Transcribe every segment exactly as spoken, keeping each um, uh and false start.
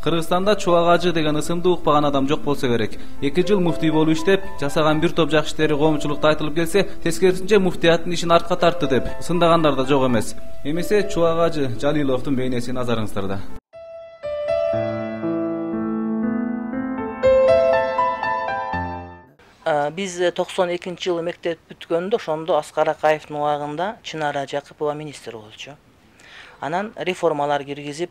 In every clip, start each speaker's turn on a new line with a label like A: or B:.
A: Кыргызстанда Чубак Ажы деген ысымды укпаган адам жок болсо керек. эки жыл муфтий болуп иштеп, жасаган бир топ жакшы иштери коомчулукта айтылып келсе, тескерисинче муфтияттын ишин артка тартты деп сындагандар да жок эмес. Эмесе Чубак Ажы Жалиловдун бейнеси назарыңыздарда.
B: Биз токсон экинчи жылы мектеп бүткөндө ошондо Аскар Акаевдин убагында Чынара Жакыпова министр болчу. Анан реформалар киргизип,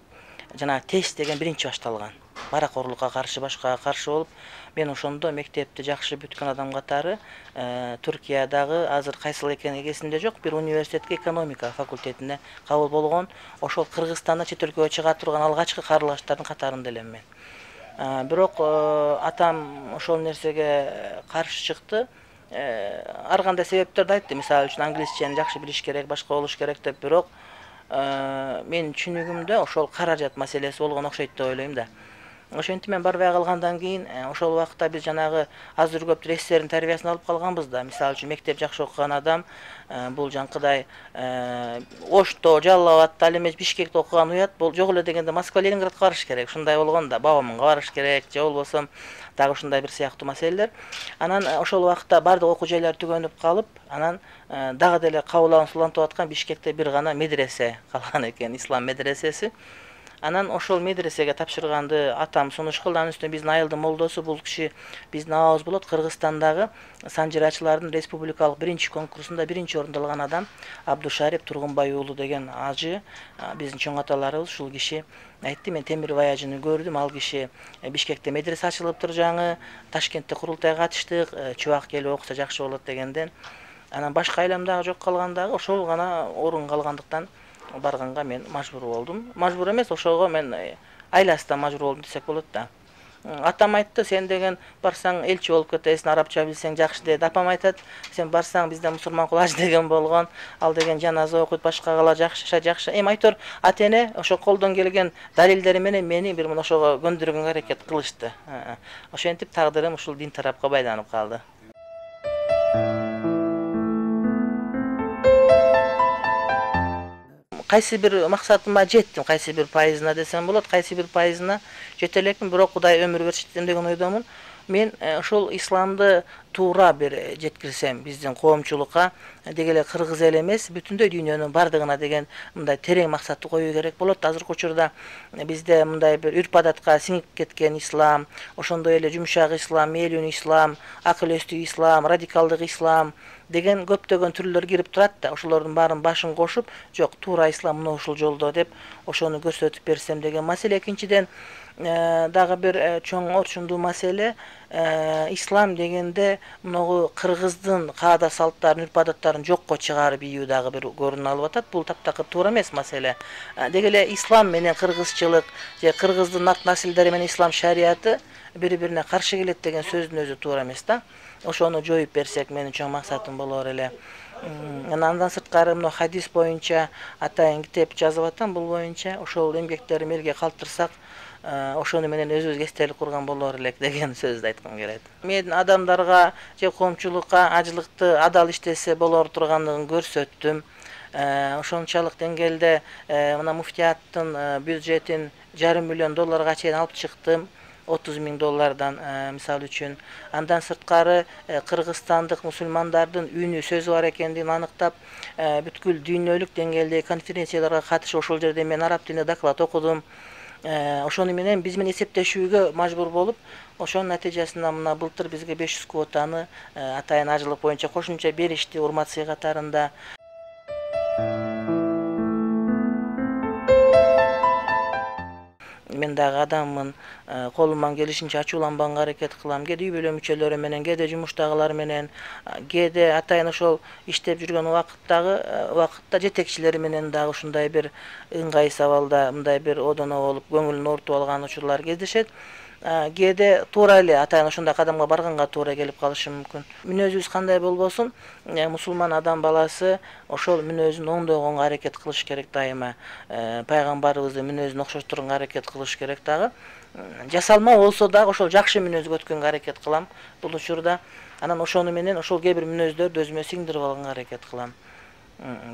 B: жана тест деген биринчи башталган. Баракорлукка каршы, башкага каршы болуп, мен ошондо мектепти жакшы бүткөн адам катары Түркиядагы азыр кайсыл экени эсимде жок, бир университетке экономика факультетине кабыл болгон, ошол Кыргызстандан чет өлкөгө чыга турган алгачкы каарылгачтардын катарында элем мен. Бирок атам ошол нерсеге каршы чыкты. Ар кандай себептерди айтты. Мисалы үчүн англисчени жакшы билиш керек, башка болуш керек деп, бирок менин түшүнүгүмдө ошол каражат маселеси болгон окшойт деп ойлойм да. Ошентип мен барбай калгандан кийин ошол убакта биз жанагы азыр көп рессердин тарбиясын алып калганбыз да. Мисалы үчүн мектеп жакшы окуган адам бул жанкыдай Ошто, Жалал Абадта, ал эми Бишкекте окуган уят, бул жок эле дегенде Москва, Ленинградка барыш керек. Ушундай болгон да, Бабамынга барыш керек, же болбосо дагы ушундай бир сыяктуу маселелер. Анан ошол убакта бардык окуу жайлар түгөнүп калып, анан дагы деле кабылган сулантып аткан Бишкекте бир гана медресе калган экен, ислам медресеси. Анан ошол медресеге тапшырганды атам сунуш кылды. Анын үстүнө биздин айылдын молдосу, бул киши биздин абабыз болот, Кыргызстандагы санжырачылардын республикалык биринчи конкурсунда биринчи орунду алган адам Абдушарип Тургунбай уулу деген ажы, биздин чоң аталарыбыз. Ушул киши айтты, мен Темирбай ажыны көрдүм, ал киши Бишкекте медресе ачылыптыр жаңы, Ташкентте курултайга катыштык, Чубак келип окуса жакшы болот дегенден. Анан башка айлам дагы жок калгандагы, ошол гана орун калгандыктан барганга мен мажбур болдум. Мажбур эмес, ошого мен айласынан мажбур болдум десек болот да. Атам айтты, сен деген барсаң элчи болуп кетесиң, арабча билсең жакшы дейт. Апам айтат, сен барсаң бизде мусулман кул ажы деген болгон, ал деген жаназа окуйт, башкагалар жакшы жакшы. Эми айтор ата эне ошо колдон келген далилдери менен мени бир мына ошого көндүргөнгө аракет кылышты. Ошентип тагдырым ушул дин тарапка байланып калды. Кайсы бир максатыма жеттим, кайсы бир пайызына десем болот, кайсы бир пайызына жете элекмин, бирок Кудай өмүр беришти деген ойдомун. Мен ошол исламды туура бир жеткирсем биздин коомчулукка, деги эле кыргыз эл эмес, бүтүндөй дүйнөнүн бардыгына деген мындай терең максатты коюу керек болот. Азыркы учурда бизде мындай бир үрп адатка сиңип кеткен ислам, ошондой эле жумшак ислам, мээлүүнү ислам, акыл эстүү ислам, радикалдык ислам деген көптөгөн түрлөр кирип турат да. Ошолордун баарын башын кошуп, жок, туура ислам мына ушул жолдо деп ошону көрсөтүп берсем деген маселе. Экинчиден дагы бир чоң орчундуу маселе, ислам дегенде могу кыргыздын каада салттарын, үрп адаттарын жокко чыгарып ийүү дагы бир көрүнүп алып атат. Бул таптакыр туура эмес маселе. Деги эле ислам менен кыргызчылык же кыргыздын нарт насилдери менен ислам шарияты бири-бирине каршы келет деген сөздүн өзү туура эмес да. Ошону жоюп берсек менин чоң максатым болор эле. Андан сырткары мына хадис боюнча атайын китеп жазып атам, бул боюнча ошол эмгектерин элге калтырсак, ошону менен өзүбүзгө эстелик курган болор элек деген сөздү айткым келет. Мен адамдарга же коомчулукка ажылыкты адал иштесе болор турганын көрсөттүм. Ошончолук деңгээлде мына муфтияттын бюджетин жарым миллион долларга чейин алып чыктым. отуз миң доллардан мисалы үчүн. Андан сырткары кыргызстандык мусулмандардын үнү сөзү бар экендигин аныктап, бүткүл дүйнөлүк деңгээлдеги конференцияларга катышып, ошол жерде мен араб тилинде доклад окудум. Ошону менен биз менен эсептешүүгө мажбур болуп, ошонун натыйжасында мына былтыр бизге беш жүз квотаны атайын ажылык боюнча кошумча беришти урмат сый катарында. Мен дагы адаммын, колуман келишинче ачууланбаганга аракет кылам. Кээде үй бүлө мүчөлөрү менен, кээде жумуштагылар менен, кээде атайын ошол иштеп жүргөн убакыттагы убакытта жетекчилери менен дагы ушундай бир ыңгай сабалда, мындай бир одоно болуп, көңүлүн оорутуп алган учурлар кездешет. Кээде туура эле атайын ошондой кадамга барганга туура келип калышы мүмкүн. Мүнөзүбүз кандай болбосун, мусулман адам баласы ошол мүнөзүн оңдогонго аракет кылыш керек дайыма. Пайгамбарыбыздын мүнөзүн окшоштурганга аракет кылыш керек дагы. Жасалма болсо дагы ошол жакшы мүнөзгө өткөнгө аракет кылам бул учурда. Анан ошону менен ошол кээ бир мүнөздөрдү өзүмө сиңдирип алганга аракет кылам.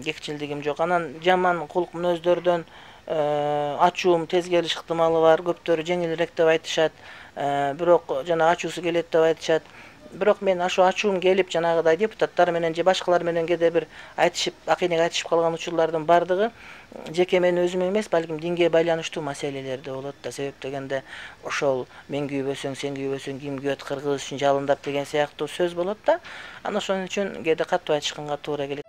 B: Кекчилдигим жок. Анан жаман кулк мүнөздөрдөн ачуум тез келиш ыктымалы бар, көптөрү жеңилирээк деп айтышат, бирок жана ачуусу келет деп айтышат. Бирок мен ошо ачуум келип жанагыдай депутаттар менен же башкалар менен кээде бир айтышып, акыйнек айтышып калган учурлардын бардыгы жеке мен өзүм эмес, балким динге байланыштуу маселелерде болот да. Себеп дегенде ошол мен күйбөсөң, сен күйбөсөң, ким күйөт, кыргыз үчүн жалындап деген сыяктуу сөз болот да. Анан ошон үчүн кээде катуу айтышканга туура келет.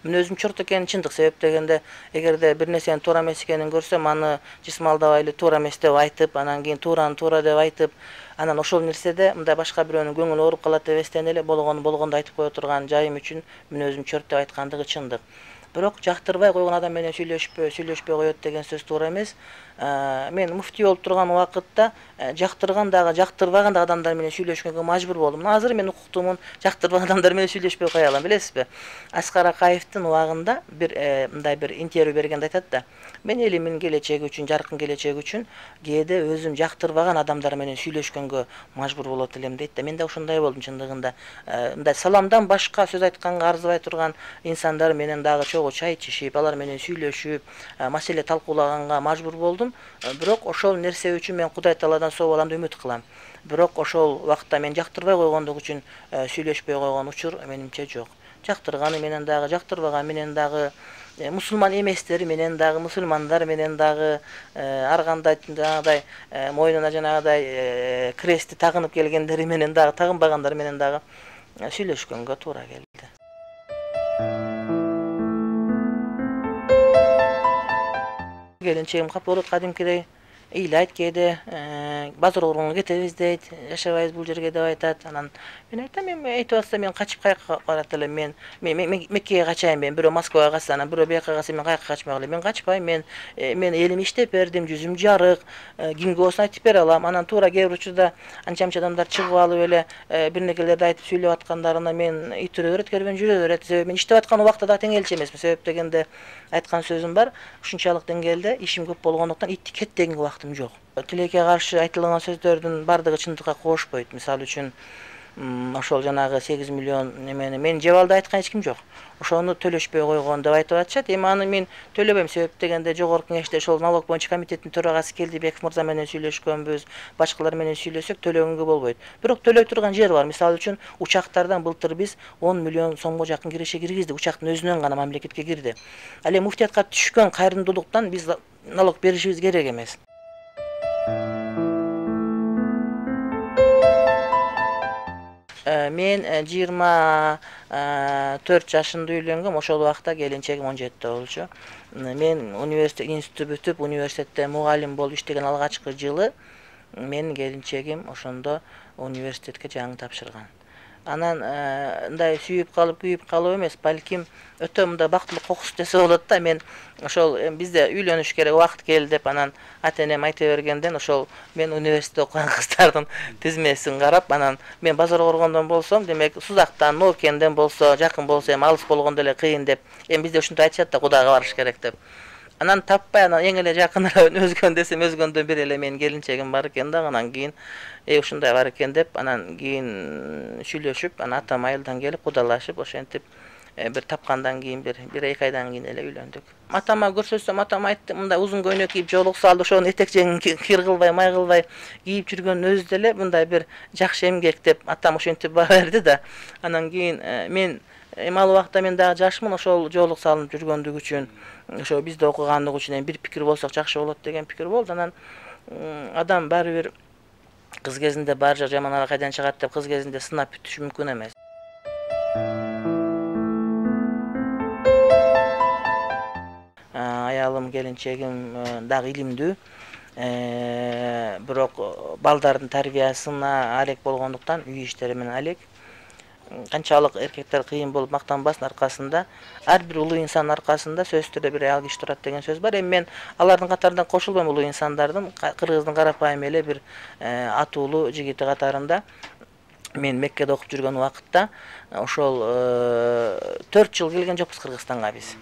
B: Мен өзүм чорт экени чындык. Себеп дегенде эгерде бир нерсенин туура эмес экенин көрсөм, аны жысмалдабай эле туура эмес деп айтып, анан кийин туураны туура деп айтып, анан ошол нерседе мындай башка бирөөнүн көңүлү ооруп калат эбестен эле болгону болгондой айтып кое турган жайым үчүн мен өзүм чорт деп айткандыгы чындык. Бирок жактырбай койгон адам менен сүйлөшпөй, сүйлөшпөй коет деген сөз туура эмес. Мен муфтий болуп турган убакытта жактырган дагы, жактырбаган да адамдар менен сүйлөшкөнгө мажбур болдум. Азыр мен укуктуумун, жактырбаган адамдар менен сүйлөшпөй кое алам, билесизби? Аскар Акаевдин убагында бир мындай бир интервью бергенде айтат да: мен элимдин келечеги үчүн, жаркын келечеги үчүн кээде өзүм жактырбаган адамдар менен сүйлөшкөнгө мажбур болот элем дейт да. Мен да ошондой болдум чындыгында. Мындай саламдан башка сөз айтканга арзыбай турган инсандар менен дагы чогуу чай ичишип, алар менен сүйлөшүп, маселе талкуулаганга мажбур болдум. Бирок ошол нерсе үчүн мен Кудай Тааладан соо баламды үмүт кылам. Бирок ошол убакта мен жактырбай койгондук үчүн сүйлөшпөй койгон учур менимче жок. Жактырганы менен дагы, жактырбаган менен дагы, мусулман эместери менен дагы, мусулмандар менен дагы, ар кандай жанагыдай мойнуна жанагыдай крестти тагынып келгендери менен дагы, тагынбагандар менен дагы сүйлөшкөнгө туура келди. Келинчегим капа болот кадимкидей, ыйлайт кээде, базар орунга кетебиз дейт, жашабайбыз бул жерге деп айтат. Анан мен айтам, мен айтып атса мен качып каяка барат элем, мен Меккеге качайын, мен бирөө Москвага качса, анан бирөө бияка качса, мен каяка качмак элем. Мен качпайм, мен мен элим иштеп бердим, жүзүм жарык, кимге болсун айтып бере алам. Анан туура кээ бир учурда анча-мынча адамдар чыгып алып эле бир нерселерди айтып сүйлөп аткандарына мен итүрө берет, кербен жүрө берет. Себеби мен иштеп аткан убакта да тең элчи эмесмин. Себеп дегенде айткан сөзүм бар, ушунчалык деңгээлде ишим көп болгондуктан итти кет деген убактым жок. Тилекке каршы айтылган сөздөрдүн бардыгы чындыкка кошпойт. Мисалы үчүн ошол жанагы сегиз миллион немени мен жебалды айткан эч ким жок. Ошону төлөшпөй койгон деп айтып атышат. Эми аны мен төлөбөйм. Себеп дегенде жогорку кеңеште ошол налог боюнча комитеттин төрагасы келди, Беков мырза менен сүйлөшкөнбүз, башкалар менен сүйлөсөк төлөгөнгө болбойт. Бирок төлөй турган жер бар. Мисалы үчүн учактардан былтыр биз он миллион сомго жакын киреше киргиздик. Учактын өзүнөн гана мамлекетке кирди. Ал эми муфтиятка түшкөн кайрымдуулуктан биз налог беришибиз керек эмес. Мен жыйырма төрт жашында үйлөнгөм, ошол убакта келинчегим он жетиде болчу. Мен университет институт бүтүп, университетте мугалим болуп иштеген алгачкы жылы менин келинчегим ошондо университетке жаңы тапшырган. Анан мындай сүйүп калып, күйүп калып эмес, балким өтө мындай бактылык кокус десе болот да. Мен ошол бизде үйлөнүш керек, убакыт келди деп анан ата-энем айта бергенден ошол мен университетте окуган кыздардын тизмесин карап, анан мен базар коргондон болсом, демек Сузактан, Ноокенден болсо, жакын болсо эми алыс болгондо эле кыйын деп, эми бизде ушинтип айтышат да, Кудайга барыш керек деп. Анан таппай, анан эң эле жакыныраак өзгөн десем, өзгөндөн бир эле менин келинчегим бар экен да. Анан кийин э ушундай бар экен деп, анан кийин сүйлөшүп, анан атам айылдан келип кудалашып, ошентип бир тапкандан кийин бир бир эки айдан кийин эле үйлөндүк. Атама көрсөтсөм, атам айтты, мындай узун көйнөк кийип жолук салды, ошонун этек жеңин кир кылбай, май кылбай кийип жүргөн өзү деле мындай бир жакшы эмгек деп атам ошентип баа берди да. Анан кийин мен эми ал убакта мен дагы жашмын, ошол жолук салынып жүргөндүг үчүн, ошо бизде окугандык үчүн эми бир пикир болсок жакшы болот деген пикир болду. Анан адам баары бир кыз кезинде бар жак жаман ара кайдан чыгат деп кыз кезинде сынап бүтүш мүмкүн эмес. Аялым, келинчегим дагы илимдүү, бирок балдардын тарбиясына алек болгондуктан үй иштери менен алек. Канчалык эркектер кыйын болуп мактанбасын, аркасында ар бир улуу инсандын аркасында сөзсүз түрдө бир аял киши турат деген сөз бар. Эми мен алардын катарынан кошулбайм, улуу инсандардын, кыргыздын карапайым эле бир атуулуу жигити катарында. Мен Меккеде окуп жүргөн убакытта ошол төрт жыл келген жокпуз Кыргызстанга биз.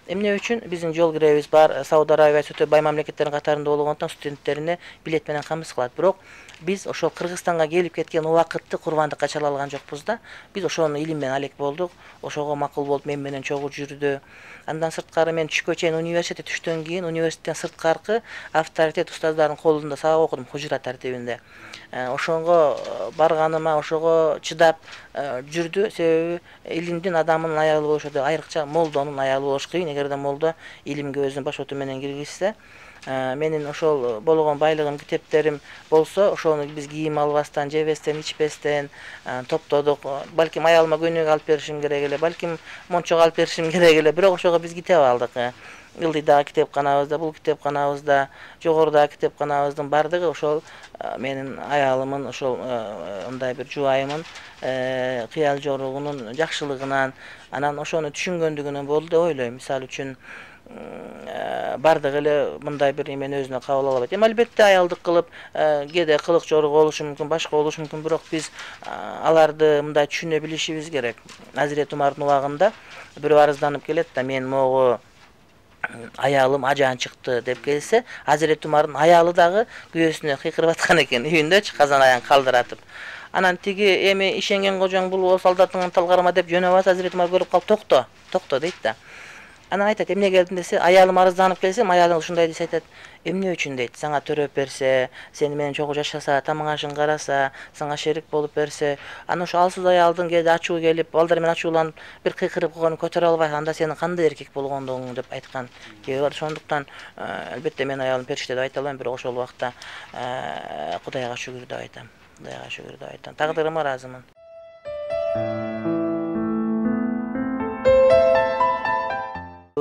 B: Эмне үчүн биздин жол киребиз бар Сауд Арабиясы өтө бай мамлекеттердин катарында болгондуктан студенттерине билет менен камсыз кылат. Бирок биз ошол Кыргызстанга келип кеткен убакытты курбандыкка чала алган жокпуз да. Биз ошону илим менен алек болдук. Ошого макул болуп мен менен чогуу жүрдү. Андан сырткары мен түшкө чейин университетте түштөн кийин университеттен сырткаркы авторитет устаздардын колунда сабак окудум хужура тартибинде. Ошого барганыма ошого чыдап жүрдү. Себеби илимдин адамдын аялы болуш өтө айрыкча молдонун аялы болуш кыйын. Эгерде молдо илимге өзүнүн баш оту менен киргизсе, менин ошол болгон байлыгым, китептерим болсо, ошону биз кийим албастан, жебестен, ичпестен топтодук. Балким аялыма көйнөк алып беришим керек эле, балким мончок алып беришим керек эле. Бирок ошого биз китеп алдык. Ылдыйдагы китепканабызда, бул китепканабызда, жогорудагы китепканабыздын бардыгы ошол менин аялымын, ошол мындай бир жубайымын кыял жоругунун жакшылыгынан, анан ошону түшүнгөндүгүнөн болду деп ойлойм. Мисалы үчүн бардык эле мындай бир эмени өзүнө кабыл ала албайт. Эми албетте аялдык кылып, кээде кылык жорук болушу мүмкүн, башка болушу мүмкүн, бирок биз аларды мындай түшүнө билишибиз керек. Азирет Умардын убагында бирөө арызданып келет да, мен могу аялым ажаан чыкты деп келсе, Азирет Умардын аялы дагы күйөөсүнө кыйкырып аткан экен, үйүндөчү казан аян калдыратып. Анан тиги эми ишенген кожоң бул болсо солдатыңды талгарма деп жөнөп атса, Азирет Умар көрүп калып, токто, токто дейт да. Анан айтат, эмне келдиң десе, аялым арызданып келсем, аялың ушундай десе айтат, эмне үчүн дейт, сага төрөп берсе, сени менен чогуу жашаса, тамак ашын караса, сага шерик болуп берсе, анан ошо алсыз аялдын кээде ачуу келип, балдар менен ачууланып, бир кыйкырып койгонун көтөрө албай, анда сенин кандай эркек болгондугуң деп айткан кеби бар. Ошондуктан албетте мен аялым периште деп айта албайм, бирок ошол убакта Кудайга шүгүр деп айтам. Кудайга шүгүр деп айтам. Тагдырыма ыраазымын.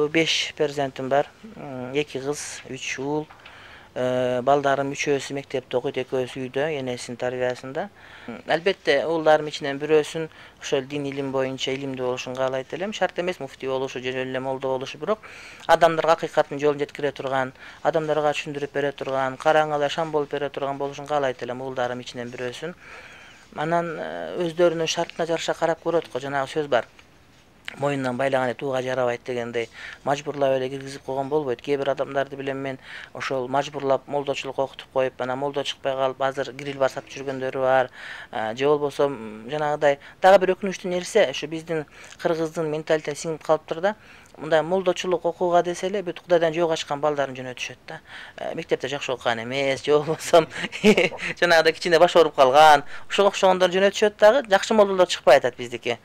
B: беш перзентим бар. эки кыз, үч уул. Балдарым үчөөсү мектепте окуйт, экөөсү үйдө, энесинин тарбиясында. Албетте уулдарым ичинен бирөөсүн ошол дин илим боюнча илимдүү болушун каалайт элем. Шарт эмес муфтий болушу, же эле молдо болушу, бирок адамдарга акыйкаттын жолун жеткире турган, адамдарга түшүндүрүп бере турган, караңгыда шам болуп бере турган болушун каалайт элем уулдарым ичинен бирөөсүн. Анан өздөрүнүн шартына жараша карап көрөт го, жанагы сөз бар. Моюндан байлаган тууга жарабайт дегендей, мажбурлап эле киргизип койгон болбойт. Кээ бир адамдарды билем мен, ошол мажбурлап молдочулук окутуп коюп, анан молдо чыкпай калып, азыр гриль бар сатып жүргөндөрү бар. Же болбосо жанагыдай дагы бир өкүнүчтүү нерсе, ошо биздин кыргыздын менталитетине сиңип калыптыр да. Мындай молдочулук окууга десе эле бүт Кудайдан жөө качкан балдарын жөнөтүшөт да. Мектепте жакшы окуган эмес, же болбосо жанагыдай кичине баш ооруп калган, ошого окшогондор жөнөтүшөт дагы, жакшы молдолор чыкпай атат биздики.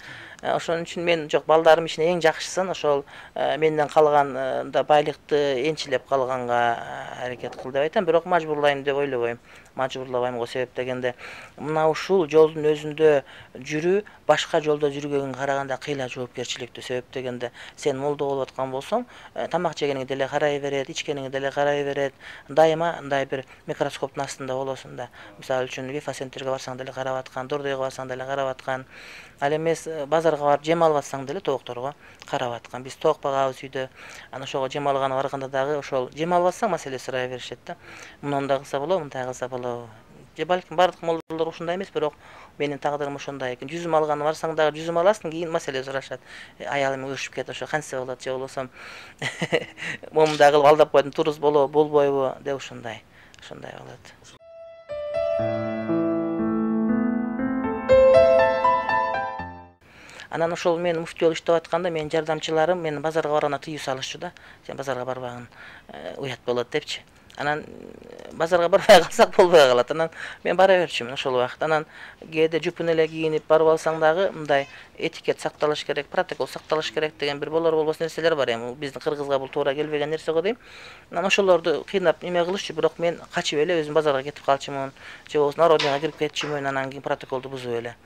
B: Ошон үчүн мен жок, балдарым ичинен эң жакшысын ошол менден калган да байлыкты энчилеп калганга аракет кыл деп айтам, бирок мажбурлайм деп ойлобойм. Мажбурлабайм го, себеп дегенде мына ушул жолдун өзүндө жүрүү башка жолдо жүргөнгө караганда кыйла жоопкерчиликтүү. Себеп дегенде сен молдо болуп аткан болсоң, тамак жегениңе деле карай берет, ичкениңе деле карай берет. Дайыма мындай бир микроскоптун астында болосуң да. Мисалы үчүн вифа-центрге барсаң деле карап аткан, Дордойго барсаң деле карап аткан. Ал эмес базарга барып жем алып атсаң деле тоокторго карап аткан. Биз тоок багабыз үйдө. Анан ошого жем алганы барганда дагы ошол жем алып атсаң маселе сурай беришет да. Мындай кылса болобу, мындай кылса болобу. Же балким бардык молдолор ушундай эмес, бирок менин тагдырым ошондой экен. Жүзүм алганы барсаң дагы жүзүм аласың, кийин маселе сурашат. Аялым өшүп кетип, ошо кантсе болот, же болбосо момундай кылып алдап койдум, туруз болобу, болбойбу деп ушундай. Ошондой болот. Анан ошол мен муфтий болуп иштеп атканда менин жардамчыларым мени базарга барганда тыюу салышчу да. Сен базарга барбагын, уят болот депчи. Анан базарга барбай калсак болбой калат. Анан мен бара берчүмүн ошол убакыт. Анан кээде жупун эле кийинип барып алсаң дагы мындай этикет сакталыш керек, протокол сакталыш керек деген бир болор болбос нерселер бар. Эми биздин кыргызга бул туура келбеген нерсе го дейм. Анан ошолорду кыйнап эме кылышчу, бирок мен качып эле өзүм базарга кетип калчумун, же болбосо народныйга кирип кетчүмүн, анан кийин протоколду бузуп эле.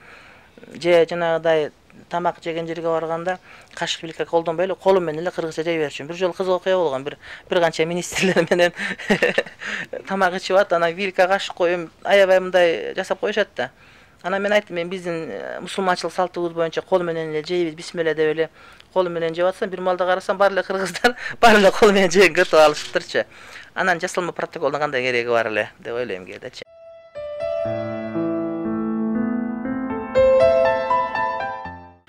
B: Же жанагыдай тамак жеген жерге барганда кашык вилка колдонбой эле колум менен эле кыргызча жей берчүмүн. Бир жолу кызык окуя болгон, бир бир канча министрлер менен тамак ичип атат, анан вилка кашык коюп аябай мындай жасап коюшат да. Анан мен айттым, мен биздин мусулманчылык салтыбыз боюнча кол менен эле жейбиз, бисмилла деп эле кол менен жеп атсам, бир маалда карасам баары эле кыргыздар баары эле кол менен жегенге өтүп алышыптырчы. Анан жасалма протоколдун кандай кереги бар эле деп ойлойм кээдечи.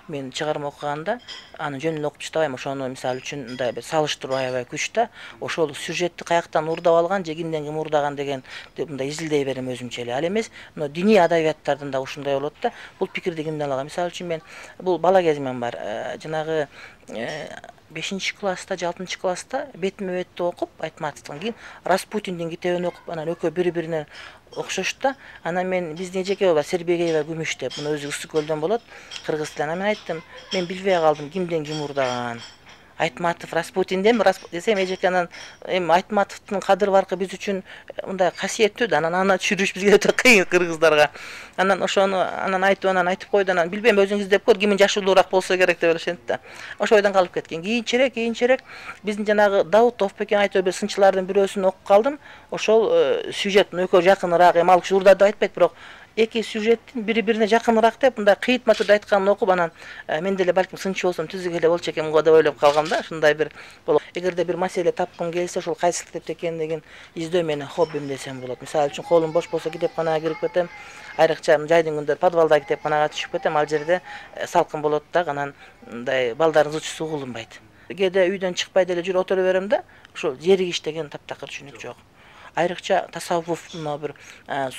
B: мен чыгарма окуганда аны жөнүн окуп чыктабайм. Ошону мисалы үчүн мындай бир салыштыруу аябай күч да. Ошол сюжетти каяктан уурдап алган же кимден ким уурдаган деген мындай изилдей берем өзүмчө эле. Ал эмес, мына диний адабияттардын да ушундай болот да. Бул пикирди кимден алган? Мисалы үчүн мен бул бала кезимден бар. Жанагы бешинчи класста же алтынчы класста бетме бетти окуп, Айтматовдун кийин Распутиндин китебин окуп, анан экөө бири-бирине окшош да. Анан мен биздин эжеке бар, Сербегеева Күмүш деп, муну өзү Ысык көлдөн болот, кыргыз тилинен. Мен айттым, мен билбей калдым кимден ким уурдаган. Айтматов Распутинден десем, эжеке анан эми Айтматовдун кадыр баркы биз үчүн мындай касиеттүү да, анан аны түшүрүш бизге өтө кыйын кыргыздарга. Анан ошону анан айтып анан айтып койду, анан билбейм, өзүң издеп көр, кимин жашы улуураак болсо керек деп элешет да. Ошо ойдон калып кеткен. Кийинчерээк, кийинчерээк биздин жанагы Даутов бекен айтып бир сынчылардын бирөөсүн окуп калдым. Ошол сюжет экөө жакыныраак, эми ал киши уурдады деп айтпайт, бирок эки сюжеттин бири-бирине жакыныраак деп мындай кыйытма түрдө айтканын окуп, анан мен деле балким сынчы болсом түзүк эле болчу экен го деп ойлоп калгам да. Ушундай бир болот. Эгерде бир маселе тапкым келсе, ошол кайсы китепте экендигин издөө менин хоббим десем болот. Мисалы үчүн колум бош болсо китепканага кирип кетем. Айрыкча жайдын күндөрү подвалда китепканага түшүп кетем. Ал жерде салкын болот да, анан мындай балдардын зычысы угулунбайт. Кээде үйдөн чыкпай деле жүрүп отура берем да, ушул жеригиш деген таптакыр түшүнүк жок. Айрыкча тасаввуф, мына бир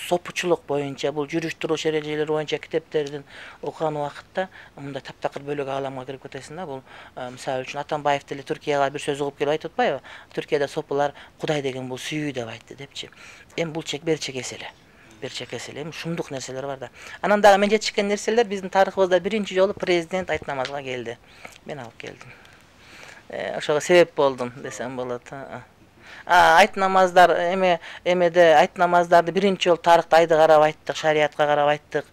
B: сопучулук боюнча, бул жүрүш туруш эрежелери боюнча китептердин окуган убакытта мындай таптакыр бөлөк ааламга кирип кетесиң да. Бул мисалы үчүн Атамбаев деле Түркияга бир сөз угуп келип айтып атпайбы? Түркияда сопулар Кудай деген бул сүйүү деп айтты депчи. Эми бул чек бер чекес эле. Бер чекес эле. Эми шумдук нерселер бар да. Анан дагы мен жетишкен нерселер биздин тарыхыбызда биринчи жолу президент айт намазга келди. Мен алып келдим. Ошого себеп болдум десем болот. Айт намаздар эме эмеде айт намаздарды биринчи жолу тарыхта айды карап айттык, шариятка карап айттык.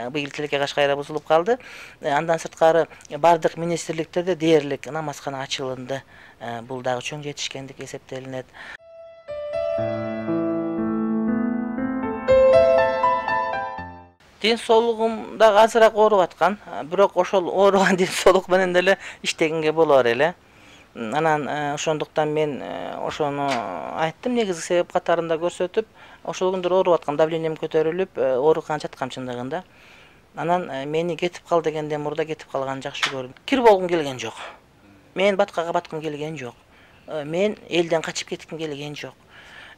B: Быйыл тилекке кашкайра бузулуп калды. Андан сырткары бардык министрликтерде дээрлик намазкана ачылынды. Бул дагы чоң жетишкендик эсептелинет. Ден соолугум дагы азыраак ооруп аткан, бирок ошол ооруган ден соолук менен деле иштегенге болор эле. Анан ошондуктан мен ошону айттым, негизги себеп катарында көрсөтүп, ошол күндөр ооруп аткан, давлением көтөрүлүп, ооруканага жаткам чындыгында. Анан мени кетип кал дегенден мурда кетип калганын жакшы көрдүм. Кир болгум келген жок. Мен баткага баткым келген жок. Мен элден качып кетким келген жок.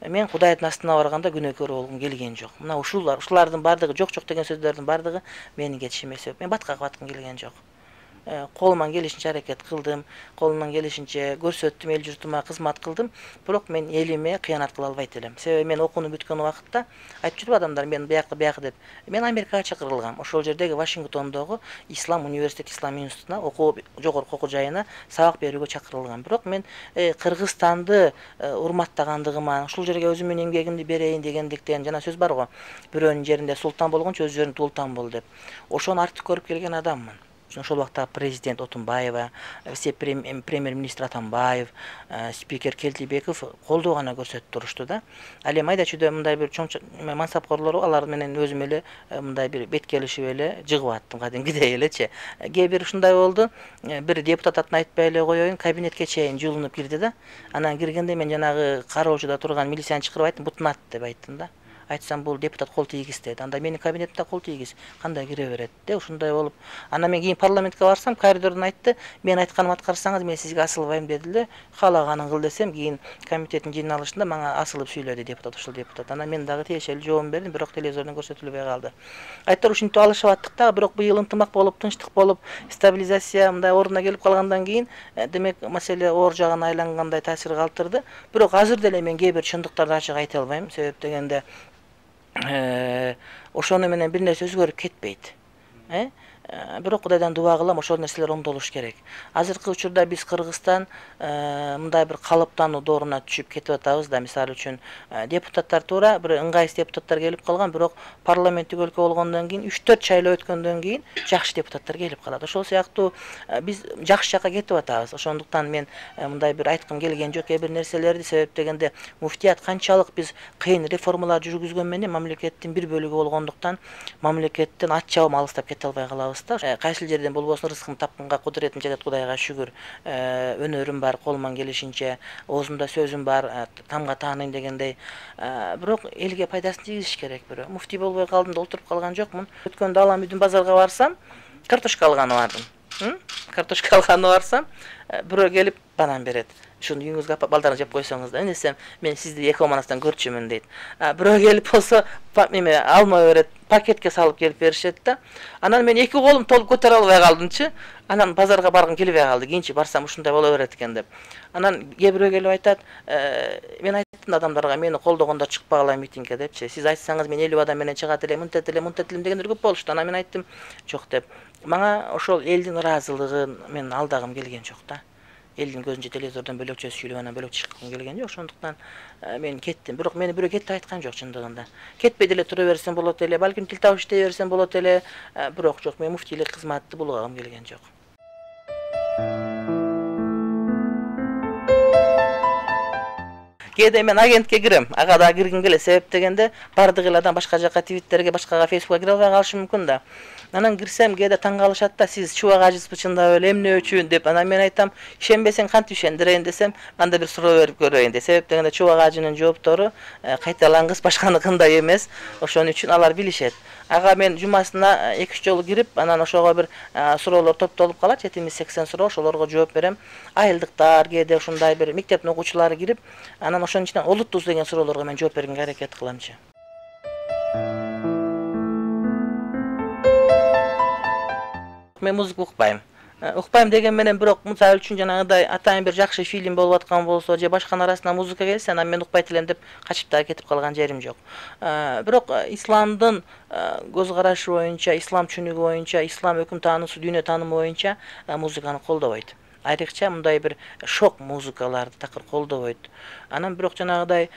B: Мен Кудайдын астына барганда күнөөкөр болгум келген жок. Мына ушулар, ушулардын бардыгы, жок жок деген сөздөрдүн бардыгы менин кетишиме себеп. Мен баткага баткым келген жок. Колуман келишинче аракет кылдым, колуман келишинче көрсөттүм, эл журтума кызмат кылдым, бирок мен элиме кыянат кыла албайт элем. Себеби мен окууну бүткөн убакытта айтып жүрүп адамдар мен биякы биякы деп. Мен Америкага чакырылгам. Ошол жердеги Вашингтондогу Ислам университет, Ислам институтуна, окуу жогорку окуу жайына сабак берүүгө чакырылгам. Бирок мен Кыргызстанды урматтагандыгыма, ушул жерге өзүмдүн эмгегимди берейин дегендиктен, жана сөз бар го, бирөөнүн жеринде султан болгончо өз жериңде ултан бол деп. Ошону артык көрүп келген адаммын. Ошол убакта президент Отунбаева, премьер-министр Атамбаев, спикер Келтибеков колдоо гана көрсөтүп турушту да. Ал эми айда чүйдө мындай бир чоң мансапкорлор, алар менен өзүм эле мындай бир бет келишип эле жыгып аттым, кадимкидей элечи. Кээ бир ушундай болду, бир депутат атын айтпай эле коеюн, кабинетке чейин жуулунуп кирди да. Анан киргенде мен жанагы кароочуда турган милицияны чакырып айттым, бутун ат деп айттым да. Айтсам бул депутат кол тийгиз деди. Анда менин кабинетимде кол тийгиз, кандай кире берет де, ушундай болуп. Анан мен кийин парламентке барсам, коридордон айтты, мен айтканымды аткарсаңыз мен сизге асылбайм деди эле. Каалаганын кыл десем, кийин комитеттин жыйналышында мага асылып сүйлөдү депутат, ушул депутат. Анан мен дагы тиешелүү жообун бердим, бирок телевизордон көрсөтүлбөй калды. Айттыр ушинтип алышып аттык да, бирок быйыл ынтымак болуп, тынчтык болуп, стабилизация мындай ордуна келип калгандан кийин, демек маселе оор жагына айлангандай таасир калтырды. Бирок азыр деле мен кээ бир чындыктарды ачык айта албайм, себеп дегенде ошону менен бир нерсе өзгөрүп кетпейт. Э? Бирок Кудайдан дуба кылам, ошол нерселер оңдолуш керек. Азыркы учурда биз Кыргызстан мындай бир калыптануу дооруна түшүп кетип атабыз да. Мисалы үчүн депутаттар туура бир ыңгайсыз депутаттар келип калган, бирок парламенттик өлкө болгондон кийин үч төрт шайлоо өткөндөн кийин жакшы депутаттар келип калат. Ошол сыяктуу биз жакшы жакка кетип атабыз. Ошондуктан мен мындай бир айткым келген жок кээ бир нерселерди, себеп дегенде муфтият канчалык биз кыйын реформалар жүргүзгөн менен мамлекеттин бир бөлүгү болгондуктан мамлекеттен ат чабым алыстап кете албай калабыз. Кайсы жерден болбосун рызкын тапканга кудуретим жетет, Кудайга шүгүр. Өнөрүм бар, колуман келишинче, оозумда сөзүм бар, тамга тааныйм дегендей. Бирок элге пайдасын тийгизиш керек. Бирок муфтий болбой калдым да олтуруп калган жокмун. Өткөндө Алам үйдүн базарга барсам, картошка алганы бардым. Картошка алганы барсам, бирөө келип банан берет. Ушуну үйүңүзгө апа балдарыңыз жеп койсоңуз да, десем, мен сизди эки манастан көрчүмүн дейт. Бирөө келип болсо, неме алма берет, пакетке салып келип беришет да. Анан мен эки колум толуп көтөрө албай калдымчы. Анан базарга баргым келбей калды. Кийинчи барсам ушундай боло берет экен деп. Анан кээ бирөө келип айтат, мен айттым адамдарга, мени колдогондор чыкпагыла митингге депчи. Сиз айтсаңыз мен элүү адам менен чыгат элем, мынтет элем, мынтет элем дегендер көп болушту. Анан мен айттым, жок деп. Мага ошол элдин ыраазылыгын мен алдагым келген жок да. Элдин көзүнчө телевизордон бөлөкчө сүйлөп анан бөлөк чыккым келген жок. Ошондуктан мен кеттим. Бирок мени бирөө кетти айткан жок чындыгында. Кетпей деле тура берсем болот эле, балким тил табыш иштей берсем болот эле. Бирок жок, мен муфтийлик кызматты булгагым келген жок. Кээде мен агентке кирем, ага да киргим келет. Себеп дегенде бардык эл адам башка жака Твиттерге, башкага Фейсбукка кире албай калышы мүмкүн да. Анан кирсем, кээде таң калышат да, сиз чубак ажыспы чындап эле, эмне үчүн деп. Анан мен айтам, ишенбесең кантип ишендирейин десем, анда бир суроо берип көрөйүн деп. Себеп дегенде чубак ажынын жооптору кайталангыс башканыкындай эмес. Ошон үчүн алар билишет. Ага мен жумасына эки үч жолу кирип, анан ошого бир суроолор топтолуп калат, жетимиш сексен суроо, ошолорго жооп берем. Айылдыктар, кээде ушундай бир мектептин окуучулары кирип, анан ошонун ичинен олуттуз деген суроолорго мен жооп бергенге аракет кыламчы. Мен музыка укпайм. Укпайм деген менен бирок мисалы үчүн жанагыдай атайын бир жакшы фильм болуп аткан болсо же башканын арасына музыка келсе, анан мен укпайт элем деп качып да кетип калган жерим жок. Бирок исламдын көз карашы боюнча, ислам түшүнүгү боюнча, ислам өкүм таанысы, дүйнө таанымы боюнча музыканы колдобойт. Айрыкча мындай бир шок музыкаларды такыр колдобойт. Анан бирок жанагыдай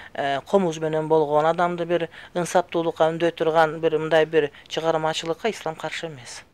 B: комуз менен болгон, адамды бир ынсаптуулукка үндөй турган бир мындай бир чыгармачылыкка ислам каршы эмес.